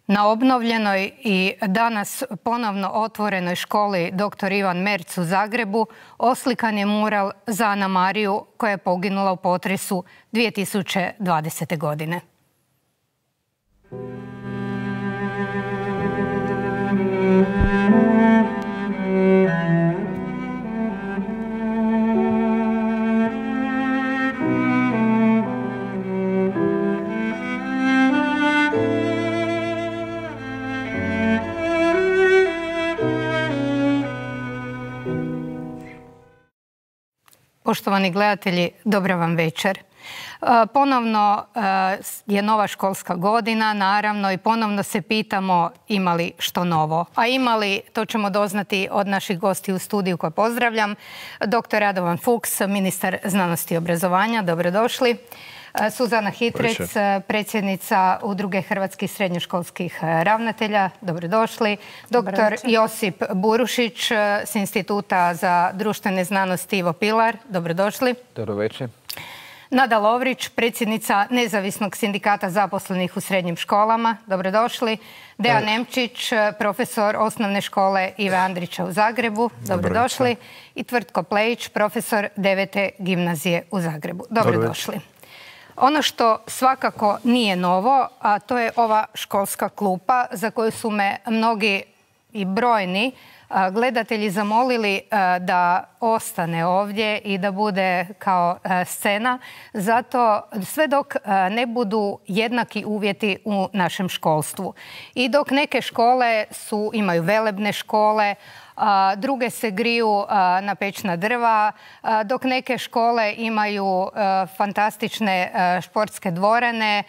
Na obnovljenoj i danas ponovno otvorenoj školi dr. Ivan Merz u Zagrebu oslikan je mural za Ana Mariju koja je poginula u potresu 2020. godine. Poštovani gledatelji, dobra vam večer. Ponovno je nova školska godina, naravno, i ponovno se pitamo ima li što novo. A ima li, to ćemo doznati od naših gosti u studiju koje pozdravljam. Dr. Radovan Fuchs, ministar znanosti i obrazovanja, dobrodošli. Suzana Hitrec, predsjednica Udruge hrvatskih srednjoškolskih ravnatelja, dobrodošli. Dr. Josip Burušić s Instituta za društvene znanosti Ivo Pilar, dobrodošli. Dobro večer. Nada Lovrić, predsjednica Nezavisnog sindikata zaposlenih u srednjim školama, dobrodošli. Dejan Nemčić, profesor osnovne škole Ive Andrića u Zagrebu, dobrodošli. I Tvrtko Plejić, profesor 9. gimnazije u Zagrebu, dobrodošli. Ono što svakako nije novo, a to je ova školska klupa za koju su me mnogi i brojni gledatelji zamolili da ostane ovdje i da bude kao scena. Zato sve dok ne budu jednaki uvjeti u našem školstvu. I dok neke škole imaju velebne škole, druge se griju na pećna drva, dok neke škole imaju fantastične športske dvorane,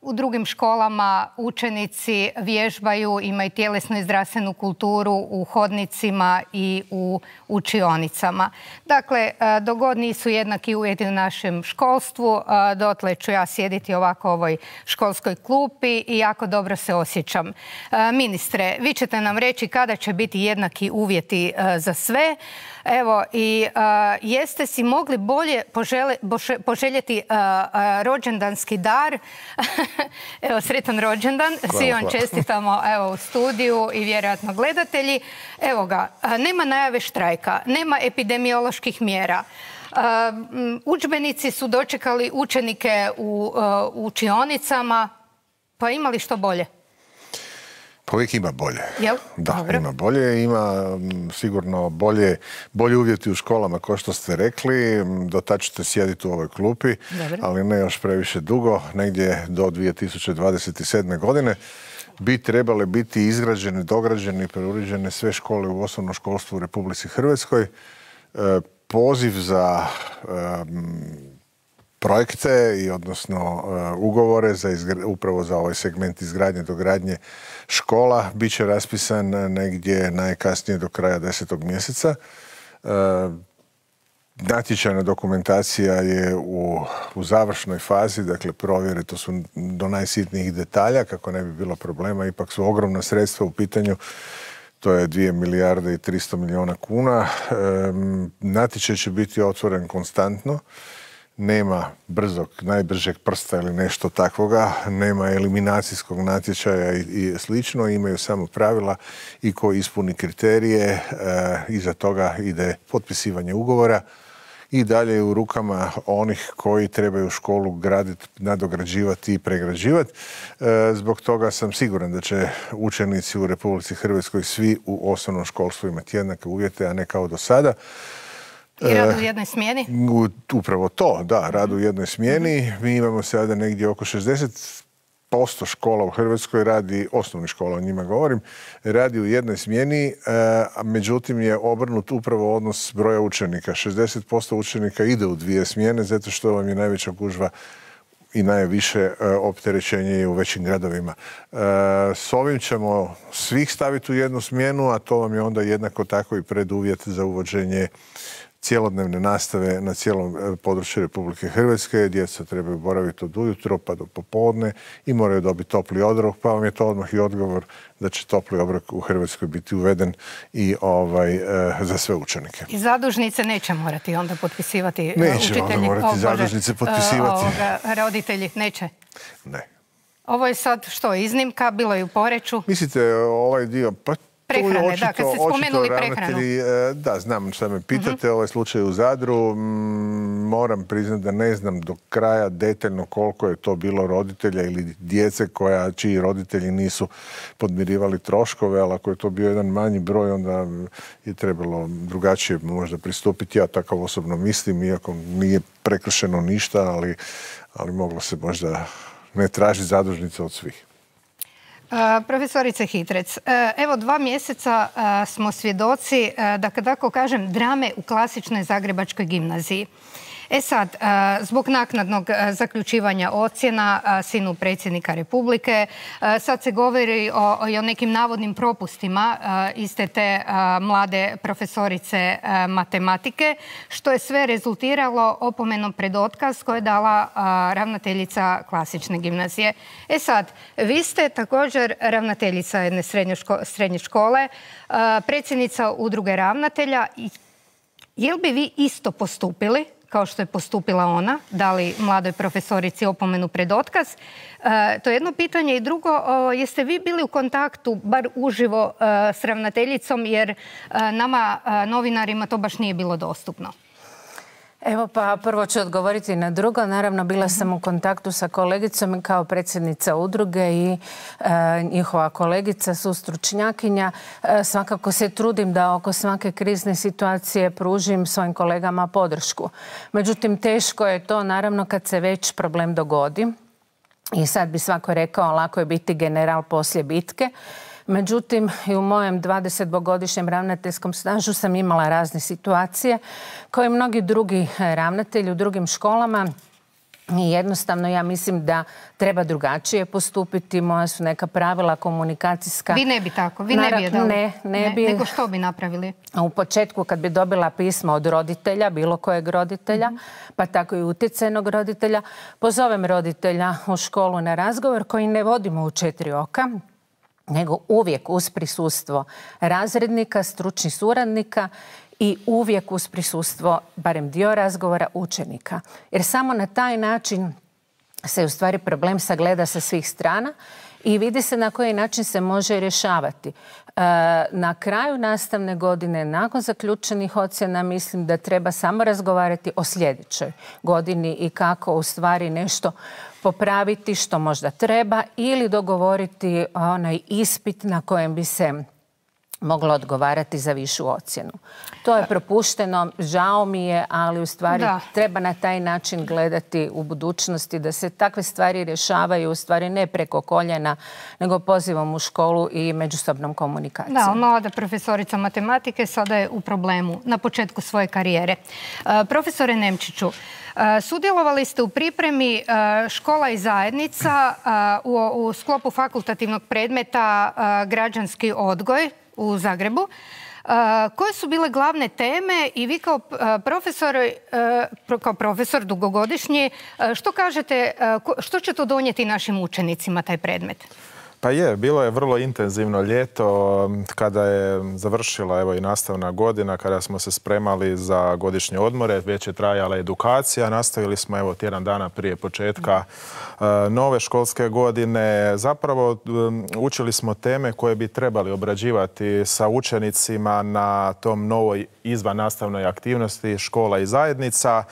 u drugim školama učenici vježbaju, imaju tjelesnu i zdravstvenu kulturu u hodnicima i u učionicama. Dakle, dok god nisu jednaki uvjeti u našem školstvu, dotle ću ja sjediti ovako u ovoj školskoj klupi i jako dobro se osjećam. Ministre, vi ćete nam reći kada će biti jednaki uvjeti za sve. Evo, i jeste si mogli bolje poželjeti rođendanski dar. Evo, sretan rođendan. Svi vam čestitamo u studiju i vjerojatno gledatelji. Evo ga, nema najave štrajka, nema epidemioloških mjera. Udžbenici su dočekali učenike u učionicama. Pa ima li što bolje? Pa uvijek ima bolje. Jel? Da, dobro. Ima bolje. Ima sigurno bolje uvjeti u školama, kao što ste rekli. Do tad ćete sjediti u ovoj klupi, ali ne još previše dugo, negdje do 2027. godine. Bi trebale biti izgrađene, dograđene i preuređene sve škole u osnovnom školstvu u Republici Hrvatskoj. Poziv za projekte i odnosno ugovore upravo za ovaj segment izgradnje, dogradnje škola bit će raspisan negdje najkasnije do kraja 10. mjeseca. Natječajna dokumentacija je u završnoj fazi, dakle provjere, to su do najsitnijih detalja, kako ne bi bilo problema, ipak su ogromna sredstva u pitanju. To je 2 milijarde i 300 milijuna kuna. Natječaj će biti otvoren konstantno. Nema najbržeg prsta ili nešto takvoga, nema eliminacijskog natječaja i slično, imaju samo pravila i ko ispuni kriterije, iza toga ide potpisivanje ugovora i dalje je u rukama onih koji trebaju školu graditi, nadograđivati i pregrađivati. Zbog toga sam siguran da će učenici u Republici Hrvatskoj svi u osnovnom školstvu imati jednake uvjete, a ne kao do sada. I rad u jednoj smjeni? Upravo to, da, rad u jednoj smjeni. Mi imamo sada negdje oko 60% škola u Hrvatskoj radi, osnovnih škola o njima govorim, radi u jednoj smjeni, međutim je obrnut upravo odnos broja učenika. 60% učenika ide u 2 smjene zato što vam je najveća gužva i najviše opterećenje u većim gradovima. S ovim ćemo svih staviti u jednu smjenu, a to vam je onda jednako tako i preduvjet za uvođenje cjelodnevne nastave na cijelom području Republike Hrvatske. Djeca trebaju boraviti od ujutro pa do popodne i moraju dobiti topli obrok, pa vam je to odmah i odgovor da će topli obrok u Hrvatskoj biti uveden i za sve učenike. I zadužnice neće morati onda potpisivati učitelji? Neće onda morati zadužnice potpisivati. Roditelji neće? Ne. Ovo je sad što, iznimka, bilo je u Poreču? Mislite ovaj dio, pa prehrane, da, kad ste spomenuli prehranu. Da, znam što me pitate, ovaj slučaj u Zadru. Moram priznati da ne znam do kraja detaljno koliko je to bilo roditelja ili djece čiji roditelji nisu podmirivali troškove, ali ako je to bio jedan manji broj, onda je trebalo drugačije možda pristupiti. Ja tako osobno mislim, iako nije prekršeno ništa, ali moglo se možda ne tražiti zadužnice od svih. Profesorice Hitrec, evo 2 mjeseca smo svjedoci, da tako kažem, drame u klasičnoj zagrebačkoj gimnaziji. E sad, zbog naknadnog zaključivanja ocjena sinu predsjednika Republike, sad se govori o nekim navodnim propustima iste te mlade profesorice matematike, što je sve rezultiralo opomenom pred otkaz koje je dala ravnateljica klasične gimnazije. E sad, vi ste također ravnateljica jedne srednje škole, predsjednica udruge ravnatelja. Jel bi vi isto postupili kao što je postupila ona, dali mladoj profesorici opomenu pred otkaz? To je jedno pitanje. I drugo, jeste vi bili u kontaktu, bar uživo, s ravnateljicom, jer nama, novinarima, to baš nije bilo dostupno? Evo pa prvo ću odgovoriti na drugo. Naravno, bila sam u kontaktu sa kolegicom kao predsjednica udruge i njihova kolegica, sustručnjakinja. Svakako se trudim da oko svake krizne situacije pružim svojim kolegama podršku. Međutim, teško je to naravno kad se već problem dogodi. I sad bi svako rekao, lako je biti general poslije bitke. Međutim, i u mojem 20-godišnjem ravnateljskom stažu sam imala razne situacije koje mnogi drugi ravnatelji u drugim školama. I jednostavno ja mislim da treba drugačije postupiti. Moja su neka pravila komunikacijska. Vi ne bi tako? Vi ne bi je dali? Ne bi. Nego što bi napravili? U početku kad bi dobila pismo od roditelja, bilo kojeg roditelja, pa tako i utjecajnog roditelja, pozovem roditelja u školu na razgovor koji ne vodimo u 4 oka, nego uvijek uz prisustvo razrednika, stručnih suradnika i uvijek uz prisustvo, barem dio razgovora, učenika. Jer samo na taj način se u stvari problem sagleda sa svih strana i vidi se na koji način se može rješavati. Na kraju nastavne godine, nakon zaključenih ocjena, mislim da treba samo razgovarati o sljedećoj godini i kako u stvari nešto popraviti što možda treba ili dogovoriti onaj ispit na kojem bi se moglo odgovarati za višu ocjenu. To je propušteno, žao mi je, ali u stvari treba na taj način gledati u budućnosti da se takve stvari rješavaju u stvari ne preko koljena, nego pozivom u školu i međusobnom komunikacijom. Da, mlada profesorica matematike sada je u problemu na početku svoje karijere. Profesore Nemčiću, sudjelovali ste u pripremi Škola i zajednica u sklopu fakultativnog predmeta Građanski odgoj u Zagrebu. Koje su bile glavne teme i vi kao profesor dugogodišnji, što kažete, što će to donijeti našim učenicima taj predmet? Pa bilo je vrlo intenzivno ljeto kada je završila evo i nastavna godina, kada smo se spremali za godišnje odmore, već je trajala edukacija, nastavili smo evo tjedan dana prije početka nove školske godine. Zapravo učili smo teme koje bi trebali obrađivati sa učenicima na tom novoj izvannastavnoj aktivnosti Škola i zajednica.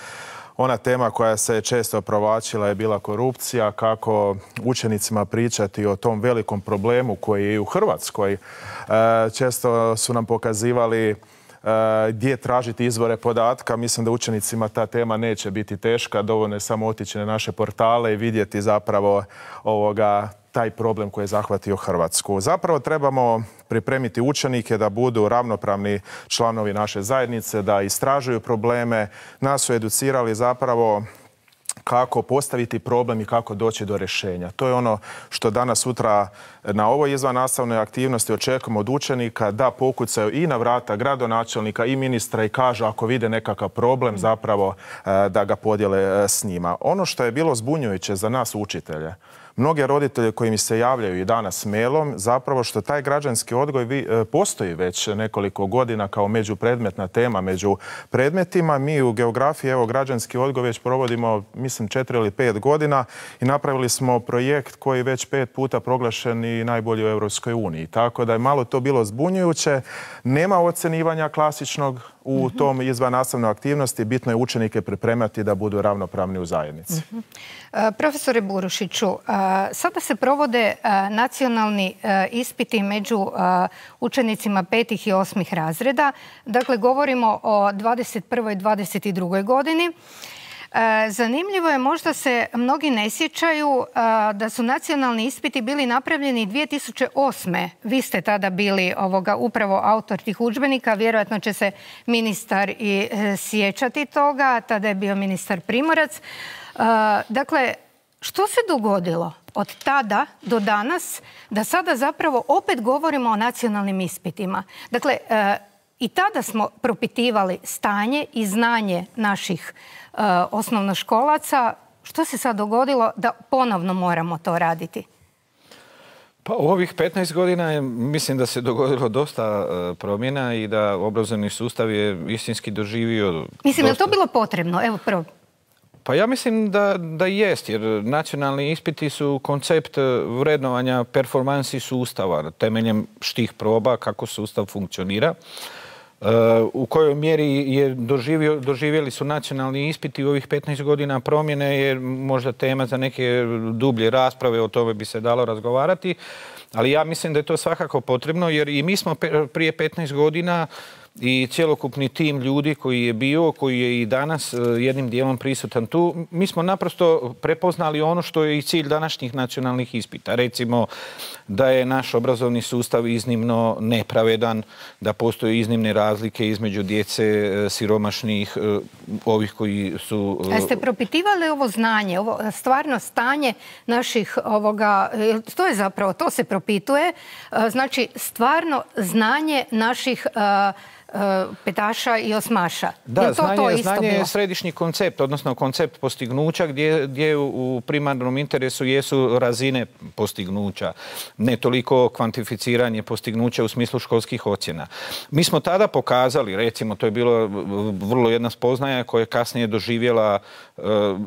Ona tema koja se često provlačila je bila korupcija, kako učenicima pričati o tom velikom problemu koji je i u Hrvatskoj. Često su nam pokazivali gdje tražiti izvore podatka. Mislim da učenicima ta tema neće biti teška. Dovoljno je samo otići na naše portale i vidjeti zapravo taj problem koji je zahvatio Hrvatsku. Zapravo trebamo pripremiti učenike da budu ravnopravni članovi naše zajednice, da istražuju probleme. Nas su educirali zapravo kako postaviti problem i kako doći do rješenja. To je ono što danas sutra na ovoj izvannastavnoj aktivnosti očekujemo od učenika, da pokucaju i na vrata gradonačelnika i ministra i kažu ako vide nekakav problem zapravo da ga podijele s njima. Ono što je bilo zbunjujuće za nas učitelje, mnoge roditelje koji mi se javljaju i danas mailom, zapravo što taj građanski odgoj postoji već nekoliko godina kao međupredmetna tema među predmetima. Mi u geografiji, evo, građanski odgoj već provodimo, mislim, 4 ili 5 godina i napravili smo projekt koji je već 5 puta proglašen i najbolji u Europskoj uniji. Tako da je malo to bilo zbunjujuće. Nema ocenivanja klasičnog u tom izvannastavnoj aktivnosti. Bitno je učenike pripremati da budu ravnopravni u zajednici. Profesore Burušiću, sada se provode nacionalni ispiti među učenicima 5. i 8. razreda. Dakle, govorimo o 21. i 22. godini. Zanimljivo je, možda se mnogi ne sjećaju da su nacionalni ispiti bili napravljeni 2008. Vi ste tada bili upravo autor tih udžbenika, vjerojatno će se ministar i sjećati toga, tada je bio ministar Primorac. Dakle, što se dogodilo od tada do danas da sada zapravo opet govorimo o nacionalnim ispitima? Dakle, i tada smo propitivali stanje i znanje naših osnovnoškolaca. Što se sad dogodilo da ponovno moramo to raditi? Pa u ovih 15 godina mislim da se dogodilo dosta promjena i da obrazovni sustav je istinski doživio... Mislim, je li to bilo potrebno? Evo prvo. Pa ja mislim da jest, jer nacionalni ispiti su koncept vrednovanja performansi sustava temeljem štih proba kako sustav funkcionira. U kojoj mjeri doživjeli su nacionalni ispiti u ovih 15 godina promjene je možda tema za neke dublje rasprave, o tome bi se dalo razgovarati, ali ja mislim da je to svakako potrebno jer i mi smo prije 15 godina i cjelokupni tim ljudi koji je bio, koji je i danas jednim dijelom prisutan tu, mi smo naprosto prepoznali ono što je i cilj današnjih nacionalnih ispita. Recimo da je naš obrazovni sustav iznimno nepravedan, da postoje iznimne razlike između djece siromašnih, ovih koji su... Jeste propitivali ovo znanje, ovo stvarno stanje naših to je zapravo, to se propituje, znači stvarno znanje naših petaša i osmaša. Da, znanje je središnji koncept, odnosno koncept postignuća gdje u primarnom interesu jesu razine postignuća, ne toliko kvantificiranje postignuća u smislu školskih ocjena. Mi smo tada pokazali, recimo, to je bilo vrlo jedna spoznaja koja je kasnije doživjela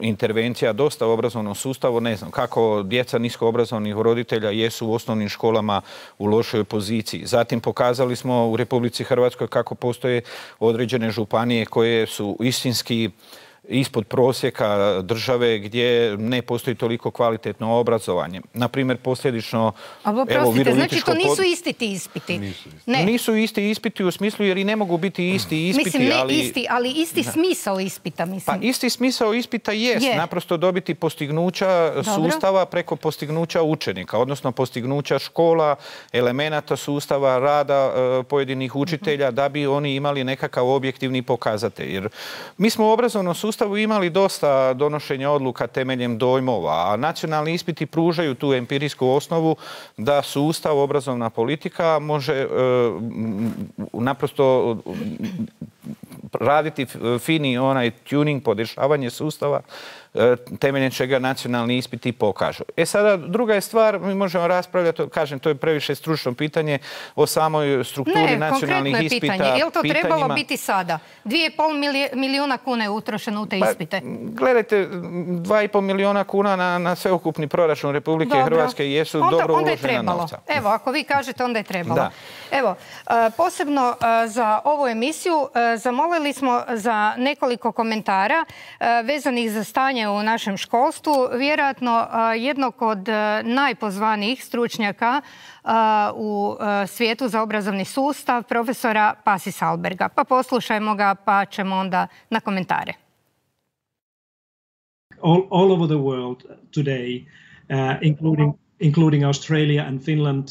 intervencija dosta u obrazovnom sustavu, ne znam, kako djeca niskoobrazovnih roditelja jesu u osnovnim školama u lošoj poziciji. Zatim pokazali smo u Republici Hrvatskoj kako postoje određene županije koje su istinski ispod prosjeka države gdje ne postoji toliko kvalitetno obrazovanje. Naprimjer, posljedično... Oprostite, znači to nisu isti ti ispiti? Nisu isti ispiti u smislu jer i ne mogu biti isti ispiti. Mislim, ne isti, ali isti smisao ispita, mislim. Pa isti smisao ispita jest naprosto dobiti postignuća sustava preko postignuća učenika, odnosno postignuća škola, elemenata sustava, rada pojedinih učitelja da bi oni imali nekakav objektivni pokazatelj. Jer mi smo u obrazovnom sustavu imali dosta donošenja odluka temeljem dojmova, a nacionalni ispiti pružaju tu empirijsku osnovu da sustav, obrazovna politika može naprosto raditi fini onaj tuning, podešavanje sustava temeljem čega nacionalni ispiti pokažu. Sada, druga je stvar, mi možemo raspravljati, kažem, to je previše stručno pitanje o samoj strukturi nacionalnih ispita. Ne, konkretno je pitanje. Je li to trebalo biti sada? 2,5 milijuna kuna je utrošeno u te ispite. Gledajte, 2,5 milijuna kuna na sveukupni proračun Republike Hrvatske jesu dobro uložena novca. Evo, ako vi kažete, onda je trebalo. Evo, posebno za ovu emisiju zamolili smo za nekoliko komentara vezanih za stanje u našem školstvu. Vjerojatno jednog od najpozvanijih stručnjaka u svijetu za obrazovni sustav, profesora Pasi Sahlberga. Pa poslušajmo ga, pa ćemo onda na komentare. All over the world today, including Australia and Finland,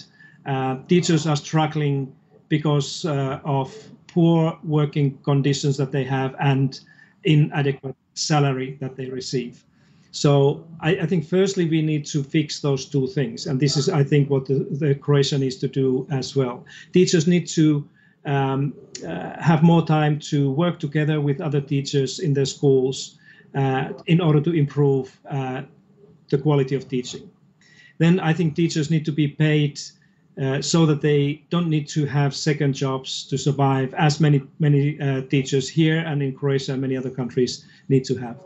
teachers are struggling because of poor working conditions that they have and inadequate salary that they receive. So I think firstly we need to fix those two things, and this is I think what the Croatia needs to do as well. Teachers need to have more time to work together with other teachers in their schools in order to improve the quality of teaching. then I think teachers need to be paid so that they don't need to have second jobs to survive, as many teachers here and in Croatia and many other countries need to have.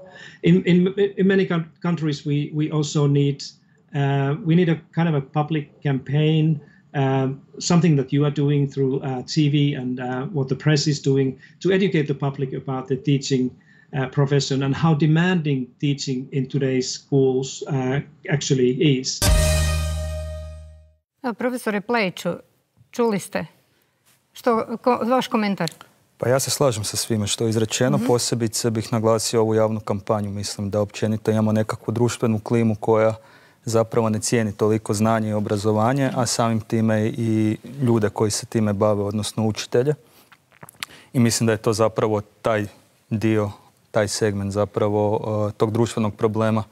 In many countries, we also need a kind of a public campaign, something that you are doing through TV and what the press is doing to educate the public about the teaching profession and how demanding teaching in today's schools actually is. Profesore Plejiću, čuli ste. Vaš komentar? Pa ja se slažem sa svime što je izrečeno. Posebice bih naglasio ovu javnu kampanju. Mislim da općenito imamo nekakvu društvenu klimu koja zapravo ne cijeni toliko znanje i obrazovanje, a samim time i ljude koji se time bave, odnosno učitelje. I mislim da je to zapravo taj dio, taj segment zapravo tog društvenog problema,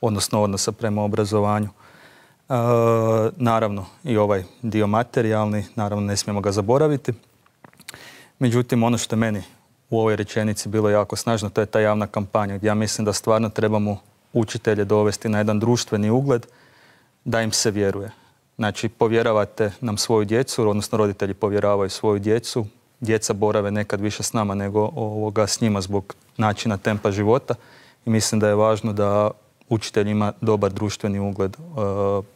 odnosno odnosa prema obrazovanju. Naravno i ovaj dio materijalni, naravno ne smijemo ga zaboraviti. Međutim, ono što je meni u ovoj rečenici bilo jako snažno, to je ta javna kampanja gdje ja mislim da stvarno trebamo učitelje dovesti na jedan društveni ugled da im se vjeruje. Znači, povjeravate nam svoju djecu, odnosno roditelji povjeravaju svoju djecu, djeca borave nekad više s nama nego s njima zbog načina tempa života i mislim da je važno da učitelj ima dobar društveni ugled,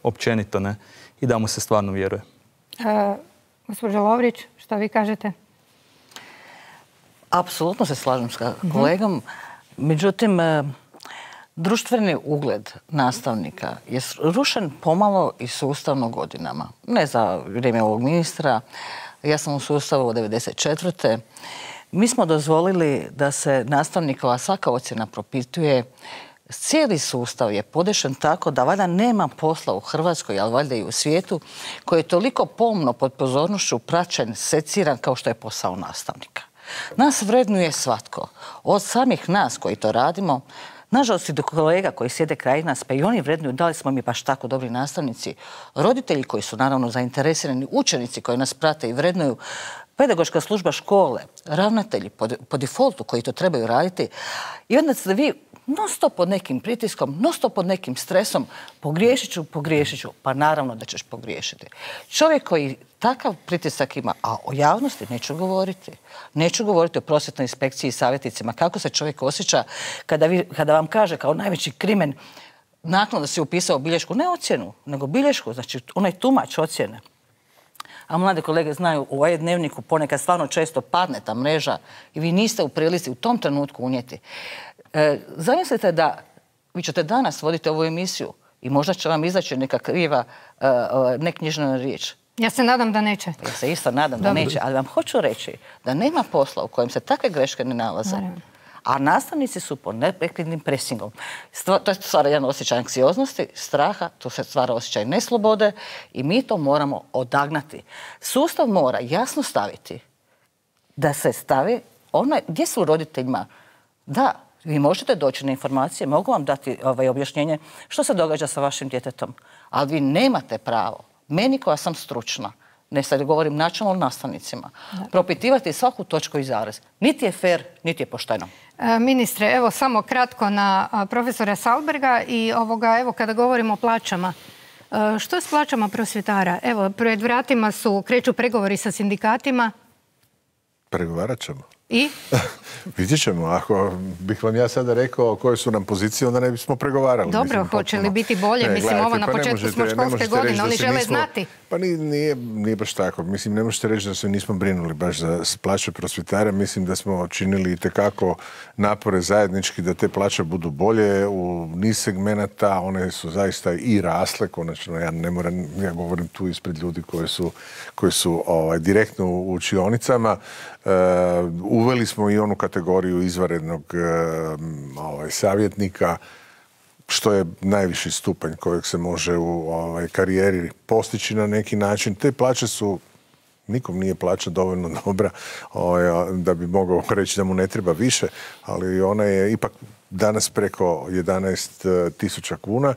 općenito ne, i da mu se stvarno vjeruje. Gospođa Lovrić, što vi kažete? Apsolutno se slažem s kolegom. Međutim, društveni ugled nastavnika je rušen pomalo i sustavno godinama. Ne za vrijeme ovog ministra. Ja sam u sustavu od 1994. Mi smo dozvolili da se nastavnikova svaka ocjena propituje. Cijeli sustav je podešen tako da valjda nema posla u Hrvatskoj, ali valjda i u svijetu, koji je toliko pomno pod pozornošću praćen, seciran kao što je posao nastavnika. Nas vrednuje svatko. Od samih nas koji to radimo, nažalost i do kolega koji sjede kraj nas, pa i oni vrednuju da li smo mi baš tako dobri nastavnici, roditelji koji su naravno zainteresirani, učenici koji nas prate i vrednuju, pedagoška služba škole, ravnatelji po defaultu koji to trebaju raditi. I onda ste vi non stop pod nekim pritiskom, non stop pod nekim stresom, pogriješit ću, pa naravno da ćeš pogriješiti. Čovjek koji takav pritisak ima, a o javnosti neću govoriti. Neću govoriti o prosvjetnoj inspekciji i savjetnicima, kako se čovjek osjeća kada vam kaže kao najveći krimen nakon da si upisao bilješku, ne ocjenu, nego bilješku, znači onaj tumač ocjene. A mlade kolege znaju, u ovaj dnevniku ponekad stvarno često padne ta mreža i vi niste u prilici u tom trenutku unijeti. Zamislite da vi ćete danas voditi ovu emisiju i možda će vam izaći neka kriva, neknjižna riječ. Ja se nadam da neće. Ja se isto nadam da neće, ali vam hoću reći da nema posla u kojem se takve greške ne nalaze. A nastavnici su pod neprekidnim presingom. To stvara jedan osjećaj anksioznosti, straha, to se stvara osjećaj neslobode i mi to moramo odagnati. Sustav mora jasno staviti da se stavi gdje su roditeljima. Da, vi možete doći na informacije, mogu vam dati objašnjenje što se događa sa vašim djetetom, ali vi nemate pravo, meni koja sam stručna, ne sad govorim načelno nastavnicima, propitivati svaku točku i zarez. Niti je fair, niti je pošteno. Ministre, evo samo kratko na profesora Sahlberga i evo kada govorimo o plaćama. Što je s plaćama prosvjetara? Evo, pred vratima kreću pregovori sa sindikatima. Pregovarat ćemo. I? Vidjet ćemo. Ako bih vam ja sada rekao koje su nam pozicije, onda ne bismo pregovarali. Dobro, hoće li biti bolje? Mislim, ovo na početku smo školske godine, oni žele znati. Pa nije baš tako. Mislim, ne možete reći da se nismo brinuli baš za plaće prosvjetara. Mislim da smo činili itekako napore zajednički da te plaće budu bolje u niz segmenata. One su zaista i rasle, konačno. Ja govorim tu ispred ljudi koji su direktno u učionicama. Uveli smo i onu kategoriju izvanrednog savjetnika, što je najviši stupanj kojeg se može u karijeri postići na neki način. Te plaće su, nikom nije plaća dovoljno dobra da bi mogao reći da mu ne treba više, ali ona je ipak danas preko 11.000 kuna.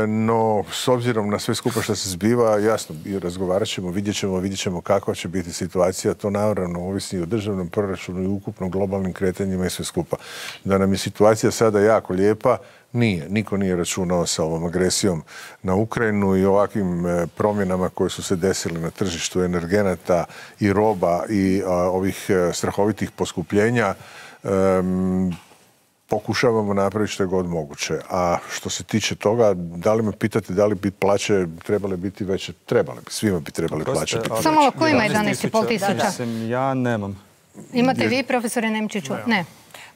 No, s obzirom na sve skupa što se zbiva, jasno, razgovarat ćemo, vidjet ćemo kakva će biti situacija. To naravno ovisi o državnom proračunu i ukupno globalnim kretanjima i sve skupa. Da nam je situacija sada jako lijepa, nije. Niko nije računao sa ovom agresijom na Ukrajinu i ovakvim promjenama koje su se desile na tržištu energenata i roba i ovih strahovitih poskupljenja. Pokušavamo napraviti što je god moguće. A što se tiče toga, da li me pitate da li bi plaće trebale biti veće? Trebale bi. Svima bi trebali plaće biti veće. Samo malo, ko ima 11.500? Ja nemam. Imate vi, profesore Nemčiću? Ne.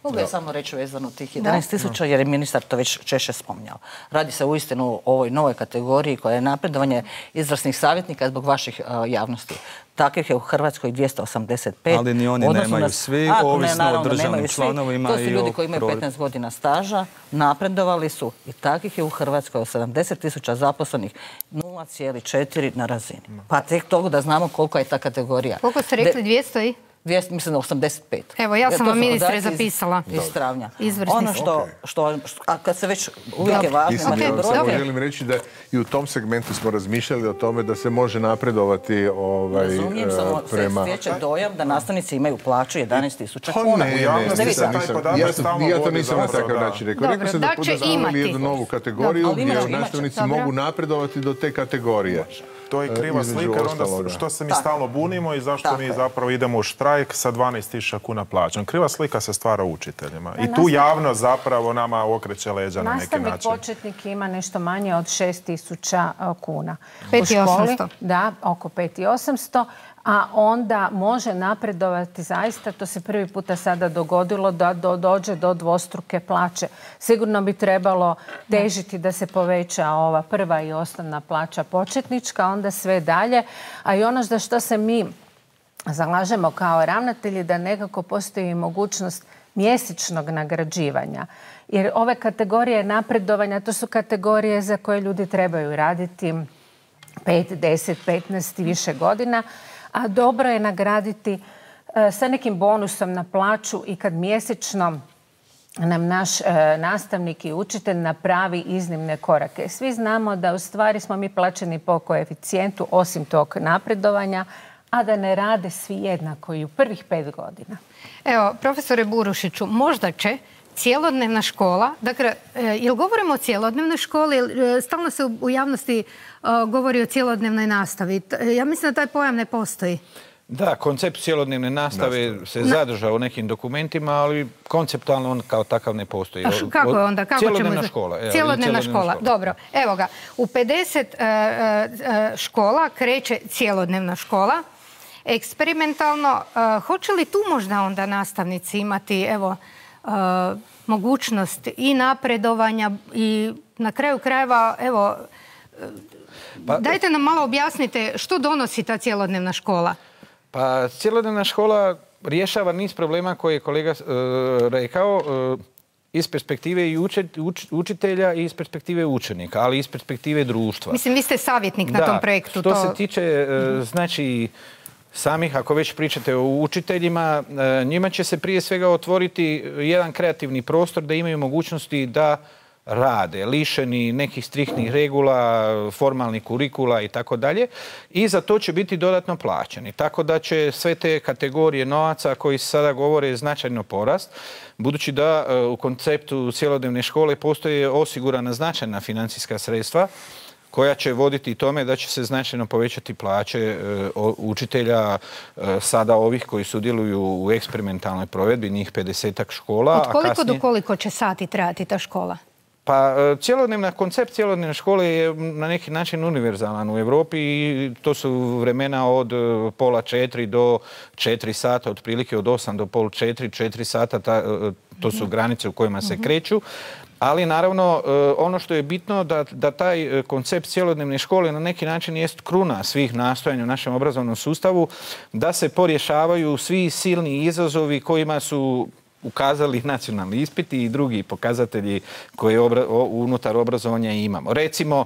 Mogu ja samo reći vezano tih 11.000 jer je ministar to već češće spominjao. Radi se uistinu o ovoj novoj kategoriji koja je napredovanje izvrsnih savjetnika zbog vaših javnosti. Takvih je u Hrvatskoj 285. Ali ni oni nemaju svi, ovisno o državnim članovima. To su ljudi koji imaju 15 godina staža, napredovali su i takvih je u Hrvatskoj od 70.000 zaposlenih 0,4 na razini. Pa tek toga da znamo koliko je ta kategorija. Koliko ste rekli, 200 i? Mislim da 85. Evo, ja sam vam, ministre, zapisala. Iz travnja. Izvrsni. Ono a kad se već uvijek je važno... Samo želim reći da i u tom segmentu smo razmišljali o tome da se može napredovati Razumijem, samo se stječe dojam da nastavnici imaju plaću 11.000 kuna. Ja to nisam na takav način rekao. Rekao sam da zavali jednu novu kategoriju gdje nastavnici mogu napredovati do te kategorije. To je kriva slika, jer onda što se mi stalno bunimo i zašto mi zapravo idemo u štrajk sa 12.000 kuna plaćom. Kriva slika se stvara učiteljima. I tu javnost zapravo nama okreće leđa na neki način. Nastavnik početnik ima nešto manje od 6.000 kuna. 5.800. Da, oko 5.800. A onda može napredovati zaista, to se prvi puta sada dogodilo, da dođe do dvostruke plaće. Sigurno bi trebalo težiti da se poveća ova prva i osnovna plaća početnička, onda sve dalje. A i ono za što se mi zalažemo kao ravnatelji, da nekako postoji mogućnost mjesečnog nagrađivanja. Jer ove kategorije napredovanja, to su kategorije za koje ljudi trebaju raditi 5, 10, 15 i više godina. A dobro je nagraditi sa nekim bonusom na plaću i kad mjesečno nam naš nastavnik i učitelj napravi iznimne korake. Svi znamo da u stvari smo mi plaćeni po koeficijentu osim tog napredovanja, a da ne rade svi jednako i u prvih 5 godina. Evo, profesore Burušiću, možda će cjelodnevna škola, dakle, jel govorimo o cjelodnevnoj školi, stalno se u javnosti govori o cjelodnevnoj nastavi. Ja mislim da taj pojam ne postoji. Da, koncept cjelodnevne nastave se zadržao u nekim dokumentima, ali konceptualno on kao takav ne postoji. Kako je onda? Cjelodnevna škola. Cjelodnevna škola, dobro. Evo ga, u 50 škola kreće cjelodnevna škola. Eksperimentalno, hoće li tu možda onda nastavnici imati, evo, mogućnost i napredovanja i na kraju krajeva, evo, dajte nam malo objasnite što donosi ta cjelodnevna škola. Pa cjelodnevna škola rješava niz problema koje je kolega rekao iz perspektive i učitelja i iz perspektive učenika, ali i iz perspektive društva. Mislim, vi ste savjetnik na tom projektu. Što se tiče, znači, samih, ako već pričate o učiteljima, njima će se prije svega otvoriti jedan kreativni prostor da imaju mogućnosti da rade, lišeni nekih striktnih regula, formalnih kurikula i tako dalje. I za to će biti dodatno plaćeni. Tako da će sve te kategorije novaca koji se sada govore značajno porast, budući da u konceptu cjelodnevne škole postoje osigurana značajna financijska sredstva koja će voditi tome da će se značajno povećati plaće učitelja sada ovih koji sudjeluju u eksperimentalnoj provedbi, njih 50-ak škola. Od koliko do koliko će sati trajati ta škola? Pa koncept cjelodnevne škole je na neki način univerzalan u Europi i to su vremena od pola 4 do 4 sata, otprilike od 8 do pol 4 sata, to su granice u kojima se kreću. Ali naravno ono što je bitno da taj koncept cjelodnevne škole na neki način jest kruna svih nastojanja u našem obrazovnom sustavu, da se porješavaju svi silni izazovi kojima su ukazali nacionalni ispiti i drugi pokazatelji koje unutar obrazovanja imamo. Recimo,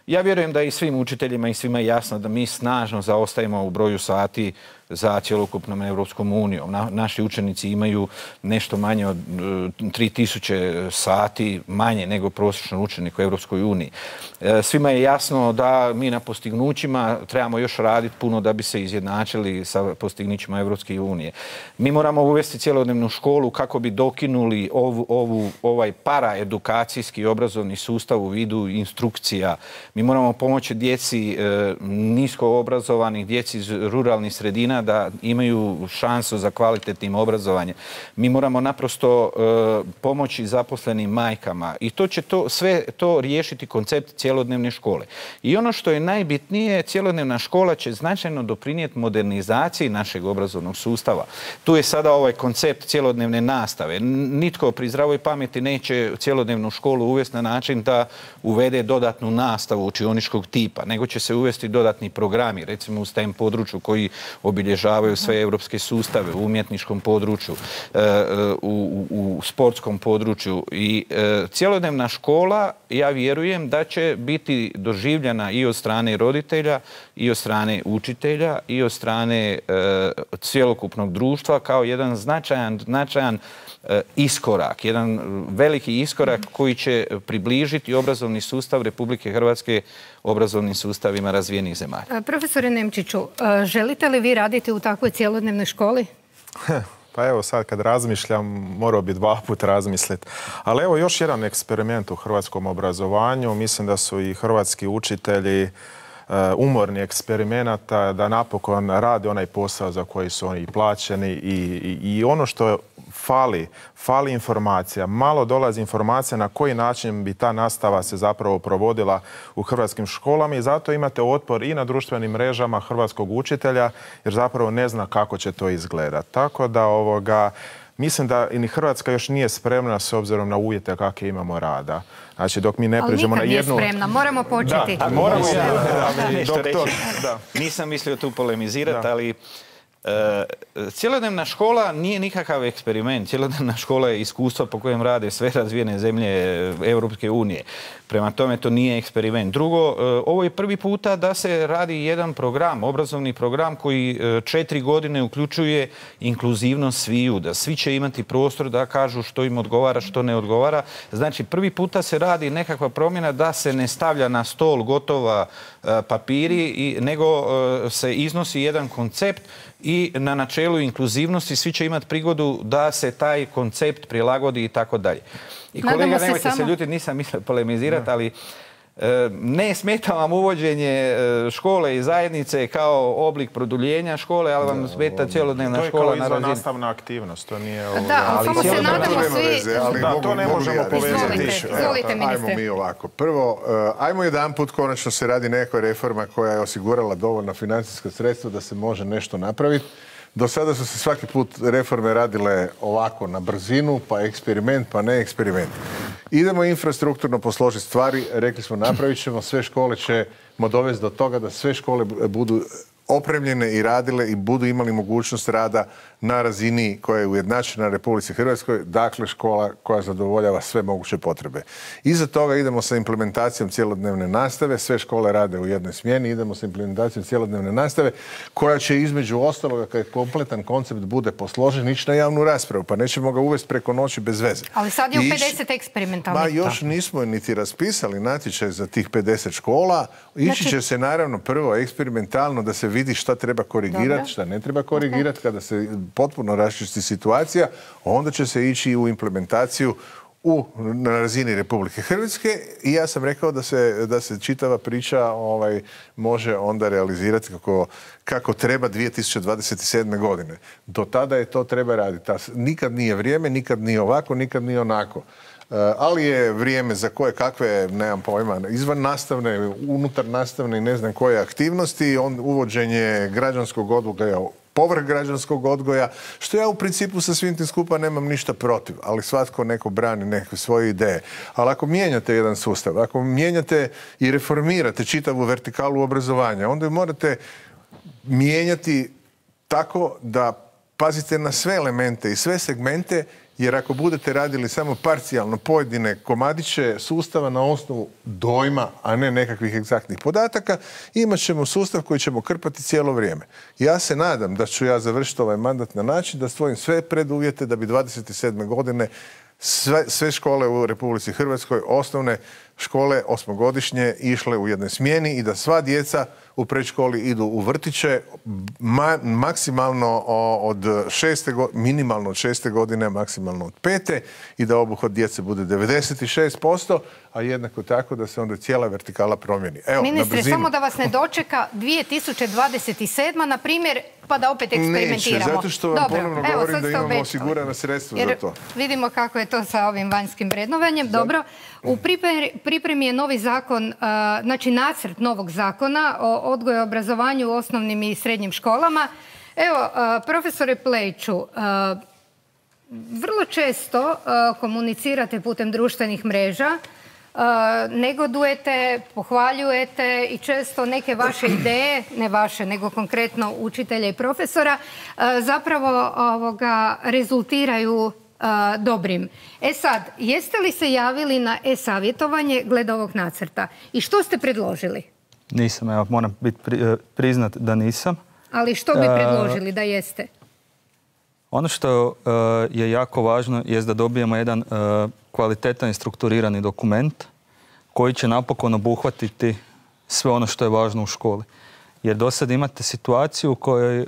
ja vjerujem da i svim učiteljima i svima je jasno da mi snažno zaostajemo u broju sati za cjelokupnom Europskom unijom. Naši učenici imaju nešto manje od 3000 sati manje nego prosječan učenik u Europskoj uniji. Svima je jasno da mi na postignućima trebamo još raditi puno da bi se izjednačili sa postignućima Europske unije. Mi moramo uvesti cjelodnevnu školu kako bi dokinuli ovaj paraedukacijski obrazovni sustav u vidu instrukcija. Mi moramo pomoći djeci nisko obrazovanih, djeci iz ruralnih sredina da imaju šansu za kvalitetnim obrazovanjem. Mi moramo naprosto pomoći zaposlenim majkama i to će sve to riješiti koncept cjelodnevne škole. I ono što je najbitnije, cjelodnevna škola će značajno doprinijeti modernizaciji našeg obrazovnog sustava. Tu je sada ovaj koncept cjelodnevne nastave. Nitko pri zdravoj pameti neće cjelodnevnu školu uvesti na način da uvede dodatnu nastavu učioničkog tipa, nego će se uvesti dodatni programi, recimo u STEM području koji obilježavaju sve europske sustave, u umjetničkom području, u sportskom području. I cjelodnevna škola, ja vjerujem da će biti doživljena i od strane roditelja, i od strane učitelja, i od strane cjelokupnog društva kao jedan značajan iskorak, jedan veliki iskorak koji će približiti obrazovni sustav Republike Hrvatske obrazovnim sustavima razvijenih zemalja. Profesore Nemčiću, želite li vi raditi u takvoj cjelodnevnoj školi? Pa evo sad kad razmišljam, morao bi 2 puta razmisliti. Ali evo još jedan eksperiment u hrvatskom obrazovanju. Mislim da su i hrvatski učitelji umorni eksperimenata da napokon rade onaj posao za koji su oni plaćeni i ono što fali informacija. Malo dolazi informacija na koji način bi ta nastava se zapravo provodila u hrvatskim školama i zato imate otpor i na društvenim mrežama hrvatskog učitelja jer zapravo ne zna kako će to izgledati. Tako da mislim da i Hrvatska još nije spremna s obzirom na uvjete kakve imamo rada. Znači, dok mi ne pređemo na jednu... Ali nikad nije spremna, moramo početi. Da, moramo nešto reći. Nisam mislio tu polemizirati, ali cjelodnevna škola nije nikakav eksperiment. Cjelodnevna škola je iskustvo po kojem rade sve razvijene zemlje Europske unije. Prema tome, to nije eksperiment. Drugo, ovo je prvi puta da se radi jedan program, obrazovni program koji 4 godine uključuje inkluzivnost sviju, da svi će imati prostor da kažu što im odgovara, što ne odgovara. Znači, prvi puta se radi nekakva promjena da se ne stavlja na stol gotova papiri, nego se iznosi jedan koncept i na načelu inkluzivnosti svi će imati prigodu da se taj koncept prilagodi i tako dalje. I kolega, nemojte se ljuti, nisam mislio polemizirati, ali ne smeta vam uvođenje škole i zajednice kao oblik produljenja škole, ali vam smeta cjelodnevna škola na razini. To je kao izvannastavna aktivnost, to nije... Da, ali samo se nadamo svi... Da, to ne možemo povezati. Izvolite, ministre. Ajmo mi ovako. Prvo, ajmo jedan put konačno se radi nekakva reforma koja je osigurala dovoljna financijska sredstva da se može nešto napraviti. Do sada su se svaki put reforme radile ovako na brzinu, pa eksperiment, pa ne eksperiment. Idemo infrastrukturno posložiti stvari, rekli smo napravit ćemo, sve škole ćemo dovesti do toga da sve škole budu opremljene i radile i budu imali mogućnost rada na razini koja je ujednačena na Republici Hrvatskoj, dakle škola koja zadovoljava sve moguće potrebe. Iza toga idemo sa implementacijom cjelodnevne nastave, sve škole rade u jednoj smjeni, idemo sa implementacijom cjelodnevne nastave koja će između ostaloga kad kompletan koncept bude posložen ići na javnu raspravu, pa nećemo ga uvesti preko noći bez veze. Ali sad je u 50 eksperimentalnih. Ma još nismo niti raspisali natječaj za tih 50 škola. Ići će se naravno prvo eksperimentalno da se vidi šta treba korigirati, šta ne treba korigirati. Kada se potpuno raščisti situacija, onda će se ići u implementaciju na razini Republike Hrvatske i ja sam rekao da se čitava priča može onda realizirati kako treba 2027. godine. Do tada je to treba raditi. Nikad nije vrijeme, nikad nije ovako, nikad nije onako. Ali je vrijeme za koje kakve, nemam pojma, izvan nastavne, unutar nastavne i ne znam koje aktivnosti, uvođenje građanskog odgoja, povrh građanskog odgoja, što ja u principu sa svim tim skupa nemam ništa protiv, ali svatko neko brani neke svoje ideje. Ali ako mijenjate jedan sustav, ako mijenjate i reformirate čitavu vertikalu obrazovanja, onda morate mijenjati tako da pazite na sve elemente i sve segmente jer ako budete radili samo parcijalno pojedine komadiće sustava na osnovu dojma, a ne nekakvih egzaktnih podataka, imat ćemo sustav koji ćemo krpati cijelo vrijeme. Ja se nadam da ću ja završiti ovaj mandat na način da stvorim sve preduvjete da bi 27. godine sve škole u Republici Hrvatskoj, osnovne škole, osmogodišnje, išle u jednoj smjeni i da sva djeca u predškoli idu u vrtiće maksimalno od 6. godine, minimalno od 6. godine, maksimalno od 5. i da obuhvat djece bude 96%, a jednako tako da se onda cijela vertikala promijeni. Evo, ministre, samo da vas ne dočeka 2027. na primjer, pa da opet eksperimentiramo. Neće, zato što vam ponovno govorim da imamo osigurana sredstva za to. Vidimo kako je to sa ovim vanjskim vrednovanjem. Dobro, u pripremi je novi zakon, znači nacrt novog zakona o odgoju i obrazovanju u osnovnim i srednjim školama. Evo, profesore Plejiću, vrlo često komunicirate putem društvenih mreža, negodujete, pohvaljujete i često neke vaše ideje, ne vaše, nego konkretno učitelja i profesora, zapravo rezultiraju dobrim. E sad, jeste li se javili na e-savjetovanje glede ovog nacrta? I što ste predložili? Nisam, evo, moram priznat da nisam. Ali što bi predložili da jeste? Ono što je jako važno je da dobijemo jedan kvalitetan i strukturirani dokument koji će napokon obuhvatiti sve ono što je važno u školi. Jer do sad imate situaciju u kojoj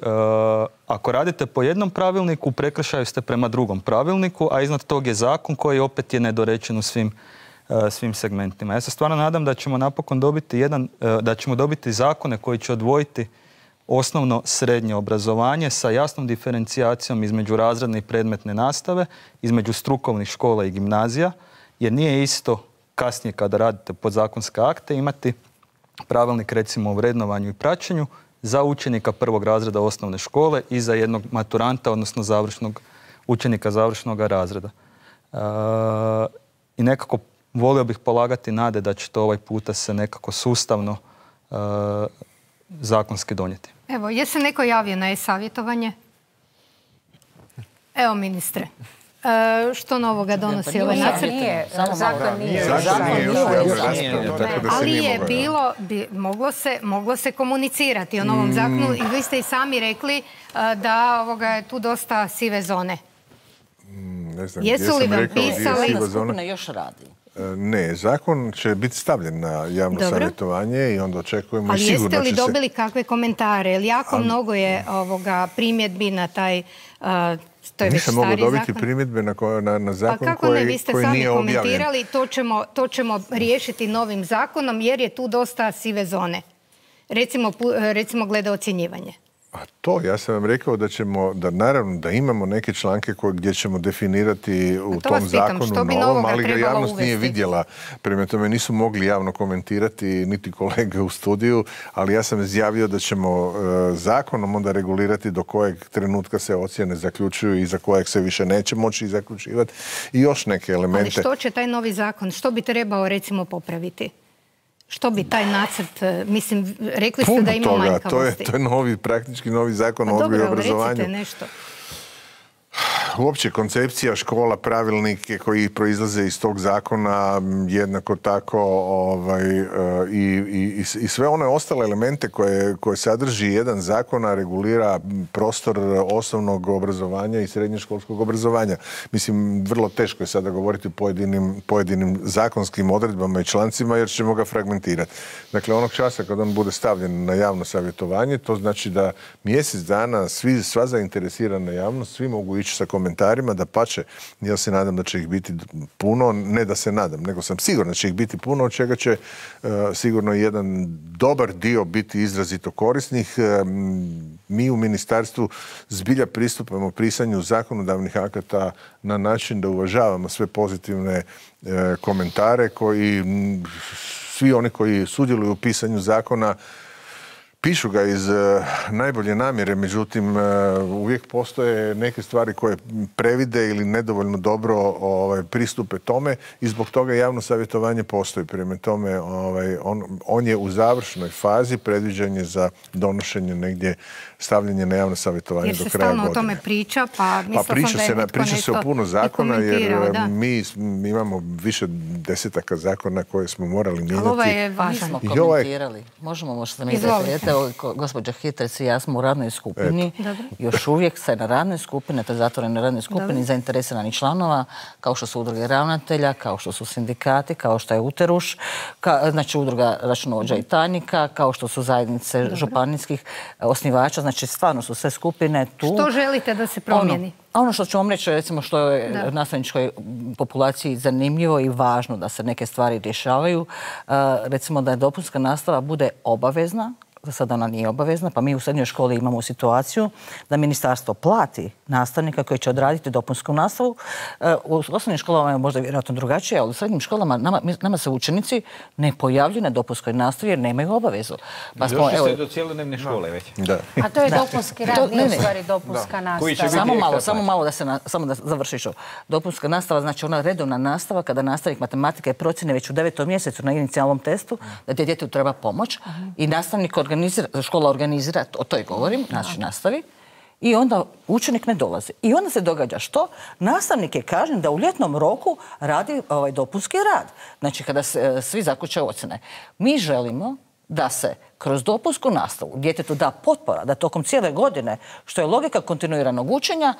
ako radite po jednom pravilniku, prekršaju ste prema drugom pravilniku, a iznad tog je zakon koji opet je nedorečen u svim segmentima. Ja se stvarno nadam da ćemo napokon dobiti zakone koji će odvojiti osnovno srednje obrazovanje sa jasnom diferencijacijom između razredne i predmetne nastave, između strukovnih škola i gimnazija, jer nije isto kasnije kada radite podzakonske akte imati pravilnik recimo o vrednovanju i praćenju za učenika prvog razreda osnovne škole i za jednog maturanta, odnosno učenika završnog razreda. I nekako volio bih polagati nade da će to ovaj puta se nekako sustavno zakonski donijeti. Evo, je se neko javio na e-savjetovanje? Evo, ministre. Što novoga donosi ovaj nacrt? Zakon nije. Ali je bilo, moglo se komunicirati o novom zakonu i vi ste i sami rekli da je tu dosta sive zone. Jesu li vam pisali? Skupina još radi. Ne, zakon će biti stavljen na javno savjetovanje i onda očekujemo i sigurno će se... Ali jeste li dobili kakve komentare? Jer jako mnogo je primjedbi na taj... Nisam mogao dobiti primjedbe na zakon koji nije objavljen. Vi ste sami komentirali, to ćemo riješiti novim zakonom jer je tu dosta sive zone. Recimo glede ocjenjivanje. A to, ja sam vam rekao da naravno da imamo neke članke gdje ćemo definirati u tom zakonu novom, ali ga javnost nije vidjela. Prema tome nisu mogli javno komentirati niti kolege u studiju, ali ja sam izjavio da ćemo zakonom onda regulirati do kojeg trenutka se ocjene zaključuju i za kojeg se više neće moći zaključivati i još neke elemente. Ali što će taj novi zakon, što bi trebao recimo popraviti? Što bi taj nacrt, mislim, rekli ste da ima manjkavosti. To je praktički novi zakon o odgoju i obrazovanju. Recite nešto. Uopće koncepcija škola, pravilnike koji proizlaze iz tog zakona, jednako tako i sve one ostale elemente koje sadrži jedan zakon, a regulira prostor osnovnog obrazovanja i srednjoškolskog obrazovanja. Mislim, vrlo teško je sada govoriti o pojedinim zakonskim odredbama i člancima jer ćemo ga fragmentirati. Dakle, onog časa kad on bude stavljen na javno savjetovanje, to znači da mjesec dana sva zainteresirana javnost, svi mogu ići sa komentarima, da pače, ja se nadam da će ih biti puno, ne da se nadam, nego sam siguran da će ih biti puno, od čega će sigurno jedan dobar dio biti izrazito korisnih. Mi u ministarstvu zbilja pristupamo pisanju zakonodavnih akata na način da uvažavamo sve pozitivne komentare koji svi oni koji sudjeluju u pisanju zakona Pišu ga iz najbolje namjere, međutim uvijek postoje neke stvari koje previde ili nedovoljno dobro pristupe tome i zbog toga javno savjetovanje postoji. Prema tome on je u završnoj fazi, predviđen je za donošenje negdje, stavljanje na javno savjetovanje do kraja godine. Jer se stalno o tome priča, pa mislila sam da je netko priča se o puno zakona, jer mi da. imamo više desetaka zakona koje smo morali mijenjati. Ali ovo je važno. Mi smo komentirali. Možemo možda mi referirati. Gospođa Hitrec i ja smo u radnoj skupini. Još uvijek se na radnoj skupini, to je zatvorenoj radnoj skupini, zainteresiranih članova, kao što su udruge ravnatelja, kao što su sindikati, kao što je Uteruš, znači udruga računovođa i tajnika, kao što su zajednice županijskih osnivača, znači stvarno su sve skupine tu. Što želite da se promijeni? Ono što ću vam reći, recimo što je nastavničkoj populaciji zanimljivo i važno da se neke stvari rješavaju, recimo da je dopunska nastava bude obavezna, za sada ona nije obavezna, pa mi u srednjoj školi imamo situaciju da ministarstvo plati nastavnika koji će odraditi dopunsku nastavu. U osnovnim školama je možda vjerojatno drugačije, ali u srednjim školama nama se učenici ne pojavljuju na dopunskoj nastavi jer nemaju obavezu. Došli ste do cijelodnevne škole već. A to je dopunski rad, nije u stvari dopunska nastava. Samo malo da završiš. Dopunska nastava znači ona redovna nastava kada nastavnik matematike procjene već u 9. mjesecu na inicijalnom testu da djetetu treba pomoć i nastavnik škola organizira, o toj govorim, znači nastavi, i onda učenik ne dolazi. I onda se događa što? Nastavnik je kažnjen da u ljetnom roku radi dopunski rad. Znači kada se svi zaključaju ocjene. Mi želimo da se kroz dopunsku nastavu djetetu da potpora, da tokom cijele godine, što je logika kontinuiranog učenja,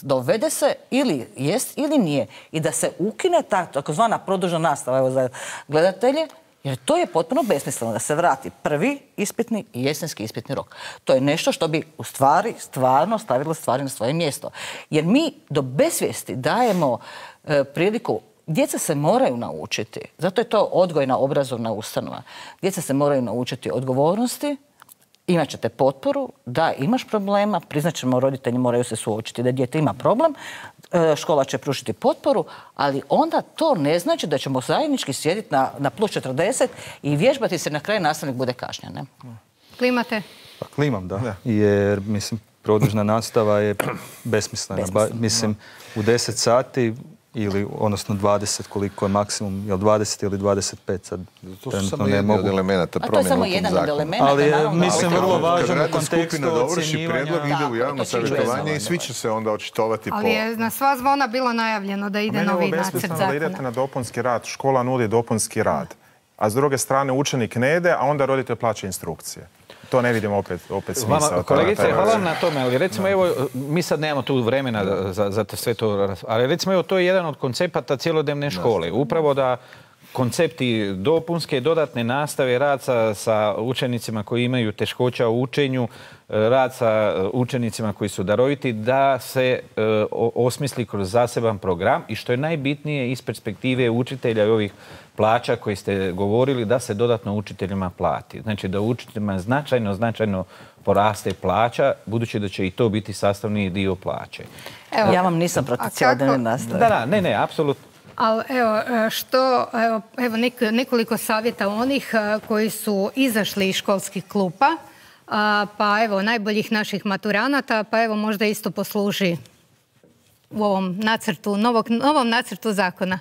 dovede se ili jest ili nije i da se ukine ta takozvana produžena nastava, evo za gledatelje, jer to je potpuno besmisleno da se vrati prvi ispitni i jesenski ispitni rok. To je nešto što bi u stvari stvarno stavilo stvari na svoje mjesto. Jer mi do besvijesti dajemo priliku, djeca se moraju naučiti, zato je to odgojna obrazovna ustanova. Djeca se moraju naučiti odgovornosti, imat ćete potporu, da imaš problema, priznat ćemo, roditelji moraju se suočiti da dijete ima problem, škola će pružiti potporu, ali onda to ne znači da ćemo zajednički sjediti na plus 40 i vježbati se na kraju nastavnik bude kažnjen. Klimate? Pa klimam, da. Jer, mislim, produžna nastava je besmislena. Mislim, u 10 sati ili, odnosno 20, koliko je maksimum, je li 20 ili 25 sad? To su samo jedni od elementa promjena u tom zakonu. Ali je, mislim, vrlo važan u kontekstu ocjenjivanja. Predlog ide u javno savjetovanje i svi će se onda očitovati po... Ali je na sva zvona bilo najavljeno da ide novi nacrt zakona. Da idete na dopunski rad, škola nudi dopunski rad, a s druge strane učenik ne ide, a onda roditelj plaća instrukcije. To ne vidimo opet smisao. Kolegice, hvala vam na tome, ali recimo evo, mi sad nemamo tu vremena za sve to, ali recimo evo, to je jedan od koncepata cjelodnevne škole. Upravo da koncepti dopunske, dodatne nastave, rad sa učenicima koji imaju teškoća u učenju, rad sa učenicima koji su daroviti, da se osmisli kroz zaseban program i što je najbitnije iz perspektive učitelja i ovih plaća koji ste govorili, da se dodatno učiteljima plati. Znači da učiteljima značajno poraste plaća, budući da će i to biti sastavni dio plaće. Ja vam nisam protiv cjelodnevne nastave. Da, ne, apsolutno. Ali evo nekoliko savjeta onih koji su izašli iz školskih klupa, pa evo najboljih naših maturanata, pa evo možda isto posluži u ovom nacrtu, novom nacrtu zakona.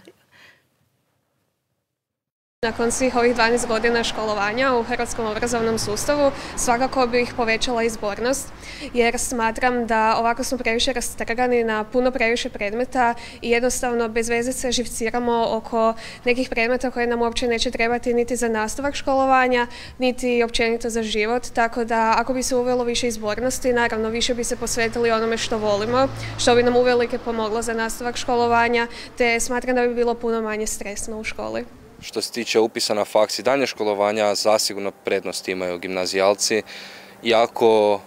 Nakon svih ovih 12 godina školovanja u hrvatskom obrazovnom sustavu svakako bih povećala izbornost jer smatram da ovako smo previše rastrgani na puno previše predmeta i jednostavno bez veze se živciramo oko nekih predmeta koje nam uopće neće trebati niti za nastavak školovanja, niti općenito za život. Tako da ako bi se uvelo više izbornosti, naravno više bi se posvetili onome što volimo, što bi nam uvelike pomoglo za nastavak školovanja, te smatram da bi bilo puno manje stresno u školi. Što se tiče upisa na faks i dalje školovanja, zasigurno prednost imaju gimnazijalci. Iako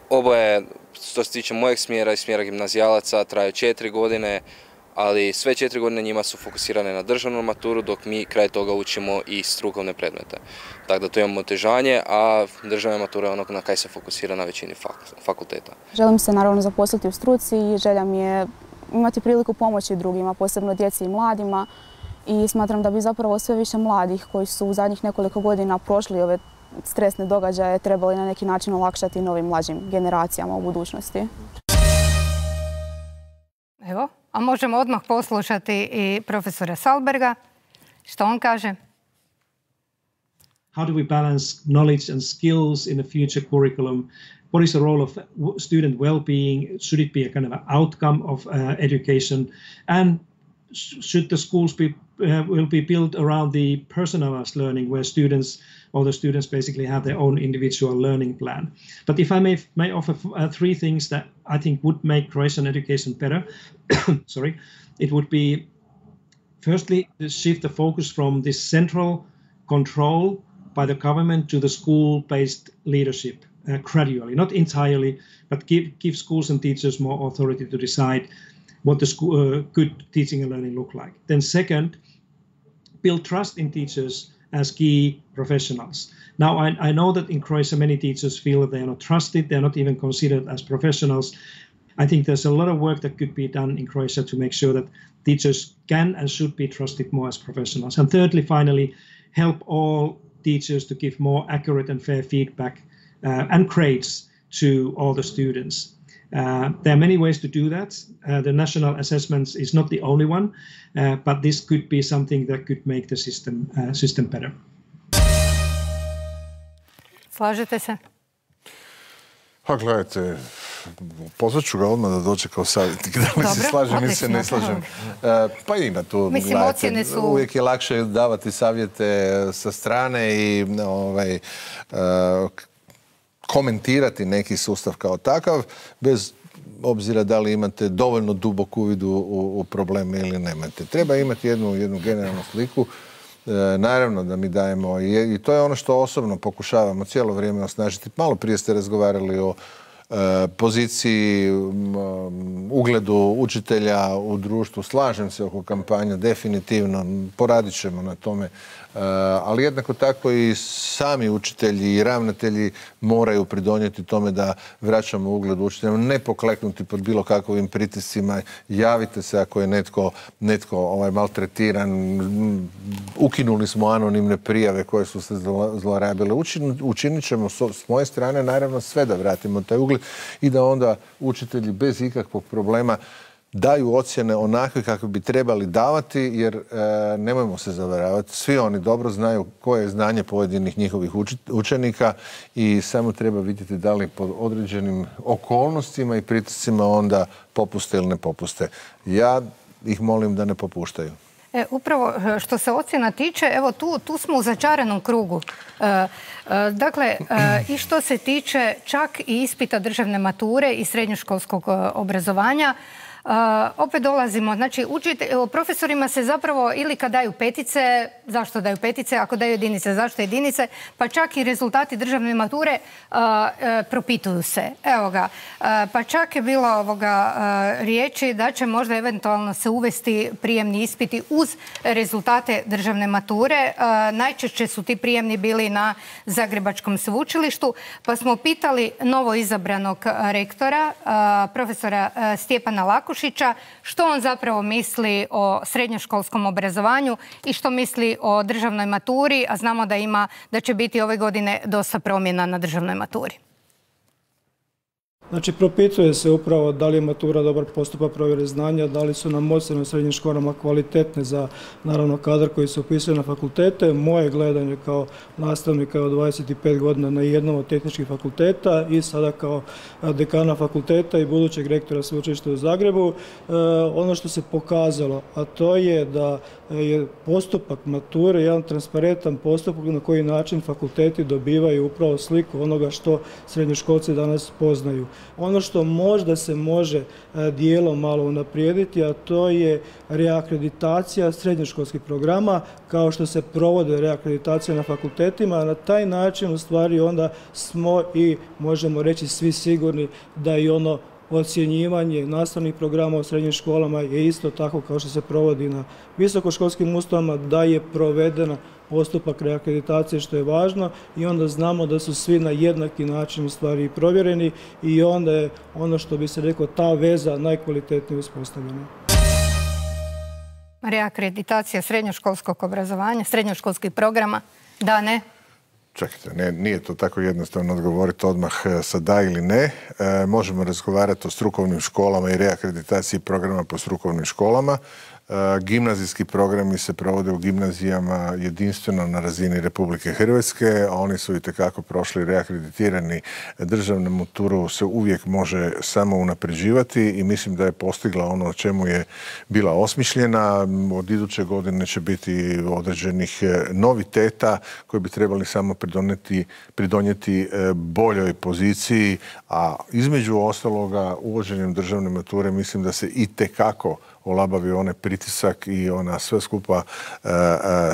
oboje, što se tiče mojeg smjera i smjera gimnazijalaca, traju 4 godine, ali sve 4 godine njima su fokusirane na državnu maturu, dok mi kraj toga učimo i strukovne predmete. Tako da to imamo otežanje, a državna matura je ono na kaj se fokusira na većini fakulteta. Želim se naravno zaposliti u struci i želja mi je imati priliku pomoći drugima, posebno djeci i mladima i smatram da bi zapravo sve više mladih koji su u zadnjih nekoliko godina prošli ove stresne događaje trebali na neki način olakšati novim mlađim generacijama u budućnosti. Evo, a možemo odmah poslušati i profesora Salberga. Što on kaže? How do we balance knowledge and skills in the future curriculum? What is the role of student well-being? Should it be a kind of an outcome of education? And should the schools will be built around the personalized learning, where all the students basically have their own individual learning plan? But if I may offer three things that I think would make Croatian education better, sorry, it would be, firstly, to shift the focus from this central control by the government to the school-based leadership gradually, not entirely, but give schools and teachers more authority to decide what the good teaching and learning look like. Then second, build trust in teachers as key professionals. Now, I know that in Croatia many teachers feel that they are not trusted, they are not even considered as professionals. I think there's a lot of work that could be done in Croatia to make sure that teachers can and should be trusted more as professionals. And thirdly, finally, help all teachers to give more accurate and fair feedback and grades to all the students. There are many ways to do that. The national assessments is not the only one, but this could be something that could make the system better. Slažete se? Pa gledajte, pozvat ću ga odmah da dođe kao savjetnik. Da li se slažem ili se ne slažem. Pa ima tu, mislim, ocjene su... Uvijek je lakše davati savjete sa strane i komentirati neki sustav kao takav, bez obzira da li imate dovoljno dubok uvid u probleme ili nemate. Treba imati jednu generalnu sliku. Naravno da mi dajemo, i to je ono što osobno pokušavamo cijelo vrijeme osnažiti. Malo prije ste razgovarali o poziciji, ugledu učitelja u društvu. Slažem se oko kampanja, definitivno, poradit ćemo na tome. Ali jednako tako i sami učitelji i ravnatelji moraju pridonijeti tome da vraćamo ugled učiteljima, ne pokleknuti pod bilo kakvim pritiscima. Javite se ako je netko maltretiran. Ukinuli smo anonimne prijave koje su se zlorabile. Učinit ćemo s moje strane naravno sve da vratimo taj ugled i da onda učitelji bez ikakvog problema daju ocjene onakve kakve bi trebali davati, jer nemojmo se zavaravati. Svi oni dobro znaju koje je znanje pojedinih njihovih učenika i samo treba vidjeti da li pod određenim okolnostima i pritiscima onda popuste ili ne popuste. Ja ih molim da ne popuštaju. Upravo što se ocjena tiče, evo tu smo u začaranom krugu. Dakle, i što se tiče čak i ispita državne mature i srednjoškolskog obrazovanja, opet dolazimo, znači profesorima se zapravo ili kad daju petice, zašto daju petice, ako daju jedinice, zašto jedinice, pa čak i rezultati državne mature propituju se. Evo ga, pa čak je bilo riječi da će možda eventualno se uvesti prijemni ispiti uz rezultate državne mature. Najčešće su ti prijemni bili na Zagrebačkom sveučilištu, pa smo pitali novo izabranog rektora, profesora Stjepana Lakušića, što on zapravo misli o srednjoškolskom obrazovanju i što misli o državnoj maturi, a znamo da će biti ove godine dosta promjena na državnoj maturi. Znači, propituje se upravo da li je matura dobar postupak provjere znanja, da li su nam ocjene u srednjim školama kvalitetne za, naravno, kadar koji se upisuje na fakultete. Moje gledanje kao nastavnika od 25 godina na jednom od tehničkih fakulteta i sada kao dekana fakulteta i budućeg rektora sveučilišta u Zagrebu, ono što se pokazalo, a to je da je postupak mature jedan transparentan postupak na koji način fakulteti dobivaju upravo sliku onoga što srednjoškolci danas poznaju. Ono što možda se može dijelom malo unaprijediti, a to je reakreditacija srednjoškolskih programa, kao što se provode reakreditacije na fakultetima. Na taj način u stvari onda smo i možemo reći svi sigurni da i ono ocjenjivanje nastavnih programa u srednjim školama je isto tako kao što se provodi na visokoškolskim ustanovama, da je provedena postupak reakreditacije, što je važno, i onda znamo da su svi na jednaki način u stvari provjereni i onda je ono što bi se reklo ta veza najkvalitetnije uspostavljena. reakreditacija srednjoškolskog obrazovanja, srednjoškolskih programa? Da, ne? Čekajte, nije to tako jednostavno odgovoriti odmah sa da ili ne. Možemo razgovarati o strukovnim školama i reakreditaciji programa po strukovnim školama. Gimnazijski programi se provode u gimnazijama jedinstveno na razini Republike Hrvatske, a oni su itekako prošli reakreditirani. Državnu maturu se uvijek može samo unapređivati i mislim da je postigla ono o čemu je bila osmišljena. Od iduće godine će biti određenih noviteta koji bi trebali samo pridonijeti boljoj poziciji, a između ostaloga uvođenjem državne mature mislim da se itekako olabavi onaj pritisak i ona sve skupa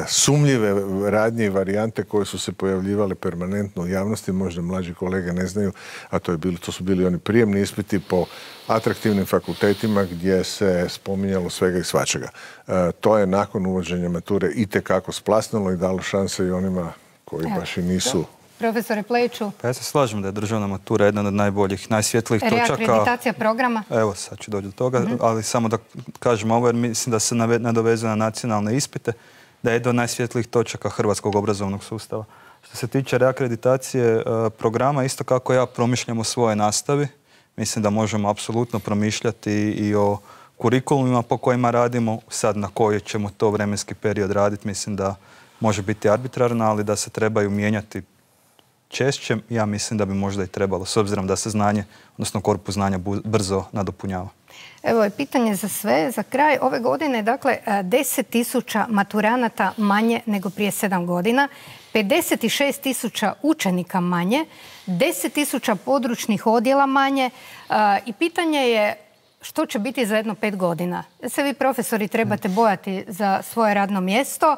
sumnjive radnje i varijante koje su se pojavljivale permanentno u javnosti, možda mlađi kolege ne znaju, a to su bili oni prijemni ispiti po atraktivnim fakultetima gdje se spominjalo svega i svačega. To je nakon uvođenja mature itekako splasnulo i dalo šanse i onima koji baš i nisu. Profesore Plejiću. Pa ja se slažem da je državna matura jedna od najboljih, najsvjetlijih točaka. Reakreditacija programa? Evo, sad ću doći do toga, ali samo da kažem ovo jer mislim da se nadovezuje na nacionalne ispite, da je jedna od najsvjetlijih točaka hrvatskog obrazovnog sustava. Što se tiče reakreditacije programa, isto kako ja promišljam o svojoj nastavi, mislim da možemo apsolutno promišljati i o kurikulumima po kojima radimo, sad na koji ćemo to vremenski period raditi, mislim da može biti arbitrarno, ali da se trebaju mijenjati češće, ja mislim da bi možda i trebalo, s obzirom da se znanje, odnosno korpus znanja brzo nadopunjava. Evo je pitanje za sve. Za kraj ove godine, dakle, 10.000 maturanata manje nego prije 7 godina, 56.000 učenika manje, 10.000 područnih odjela manje i pitanje je što će biti za jedno 5 godina. Se vi profesori trebate bojati za svoje radno mjesto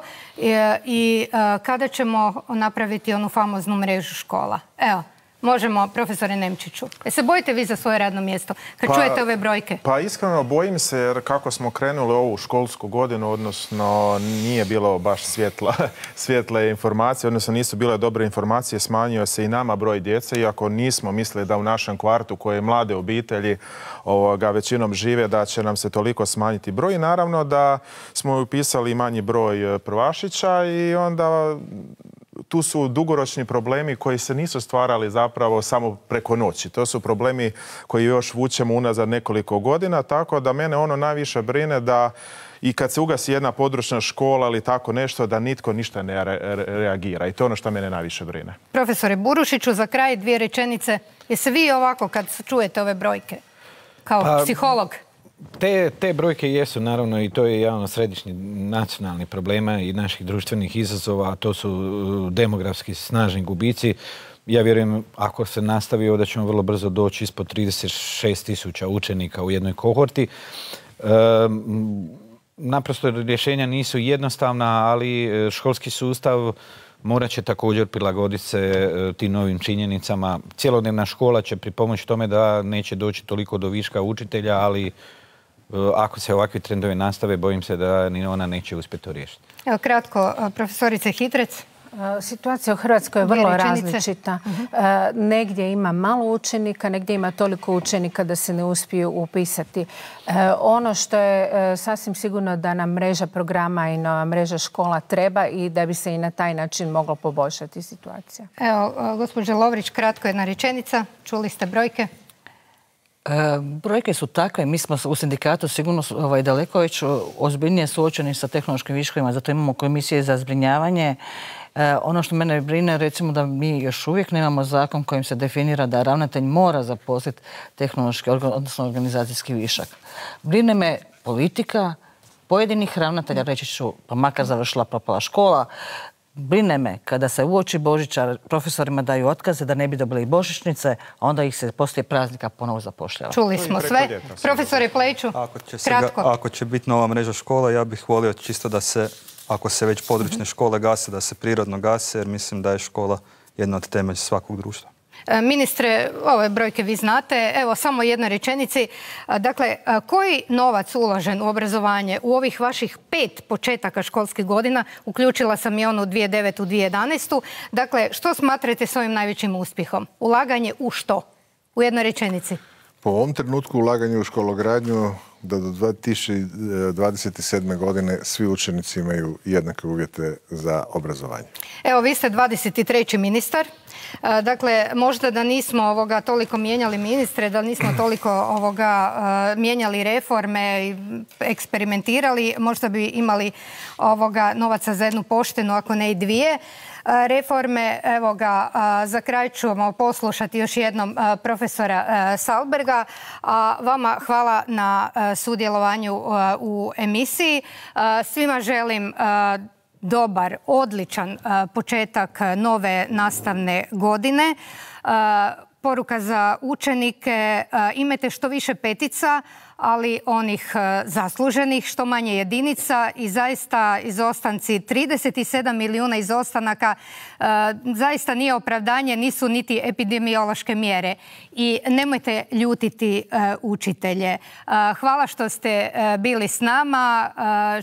i kada ćemo napraviti onu famoznu mrežu škola. Evo, možemo, profesore Nemčiću. Se bojite vi za svoje radno mjesto kad čujete ove brojke? Pa iskreno bojim se jer kako smo krenuli ovu školsku godinu, odnosno nije bilo baš svjetle informacije, odnosno nisu bile dobre informacije, smanjio se i nama broj djece, iako nismo mislili da u našem kvartu koje mlade obitelji većinom žive, da će nam se toliko smanjiti broj. I naravno da smo upisali manji broj prvašića i onda tu su dugoročni problemi koji se nisu stvarali zapravo samo preko noći. To su problemi koji još vučemo unazad nekoliko godina, tako da mene ono najviše brine da i kad se ugasi jedna područna škola ili tako nešto, da nitko ništa ne reagira. I to je ono što mene najviše brine. Profesore Burušiću, za kraj 2 rečenice. Jeste vi ovako kad čujete ove brojke kao psiholog? Te brojke jesu, naravno, i to je jedan od središnjih nacionalnih problema i naših društvenih izazova, a to su demografski snažni gubici. Ja vjerujem, ako se nastavi, da ćemo vrlo brzo doći ispod 36.000 učenika u jednoj kohorti. Naprosto rješenja nisu jednostavna, ali školski sustav morat će također prilagoditi se tim novim činjenicama. Cjelodnevna škola će pripomoći tome da neće doći toliko do viška učitelja, ali ako se ovakvi trendovi nastave, bojim se da ni ona neće uspjeti to riješiti. Evo kratko, profesorice Hitrec. Situacija u Hrvatskoj je vrlo različita. Negdje ima malo učenika, negdje ima toliko učenika da se ne uspiju upisati. Ono što je sasvim sigurno da nam mreža programa i nova mreža škola treba i da bi se i na taj način moglo poboljšati situacija. Evo, gospođa Lovrić, kratko jedna rečenica. Čuli ste brojke? Brojke su takve, mi smo u sindikatu sigurno daleko već ozbiljnije suočeni sa tehnološkim viškovima, zato imamo komisije za zbrinjavanje. Ono što mene brine, recimo da mi još uvijek nemamo zakon kojim se definira da ravnatelj mora zaposliti tehnološki, odnosno organizacijski višak. Brine me politika pojedinih ravnatelja, reći ću, pa makar završila propala škola. Brine me kada se uoči Božića profesorima daju otkaze da ne bi dobili božićnice, a onda ih se poslije praznika ponovo zapošljava. Čuli smo sve. Profesore Plejiću, kratko. Ako će biti nova mreža škola, ja bih volio čisto da se, ako se već područne škole gase, da se prirodno gase, jer mislim da je škola jedna od temelja svakog društva. Ministre, ove brojke vi znate. Evo, samo jednoj rečenici. Dakle, koji novac uložen u obrazovanje u ovih vaših 5 početaka školskih godina, uključila sam i onu 2009. 2011. Dakle, što smatrate svojim najvećim uspjehom? Ulaganje u što? U jednoj rečenici. Po ovom trenutku ulaganje u škologradnju da do 2027. godine svi učenici imaju jednake uvjete za obrazovanje. Evo, vi ste 23. ministar. Dakle, možda da nismo toliko mijenjali ministre, da nismo toliko mijenjali reforme i eksperimentirali, možda bi imali novaca za jednu poštenu, ako ne i dvije reforme. Evo ga, za kraj ćemo poslušati još jednom profesora Sahlberga. A vama hvala na sudjelovanju u emisiji. Svima želim dobar, odličan početak nove nastavne godine. Poruka za učenike, imajte što više petica, ali onih zasluženih, što manje jedinica i zaista izostanci, 37 milijuna izostanaka, zaista nije opravdanje, nisu niti epidemiološke mjere. I nemojte ljutiti učitelje. Hvala što ste bili s nama,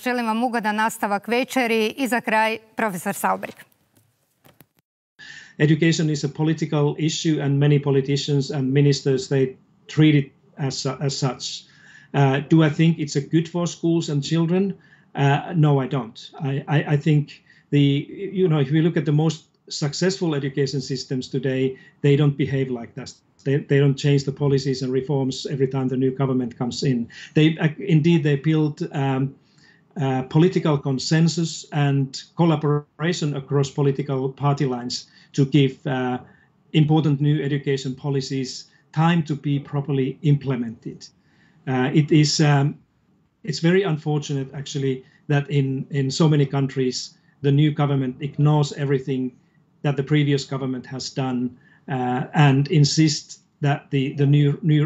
želim vam ugodan nastavak večeri i za kraj profesor Sahlberg. Education is a political issue, and many politicians and ministers, they treat it as such. Do I think it's a good for schools and children? No, I don't. I think if we look at the most successful education systems today, they don't behave like that. They don't change the policies and reforms every time the new government comes in. They build political consensus and collaboration across political party lines to give important new education policies time to be properly implemented. It's very unfortunate, actually, that in so many countries the new government ignores everything that the previous government has done and insists that the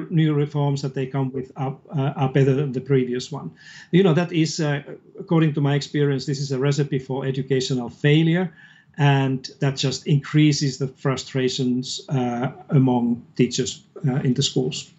new reforms that they come with are better than the previous one. That is, according to my experience, this is a recipe for educational failure, and that just increases the frustrations among teachers in the schools.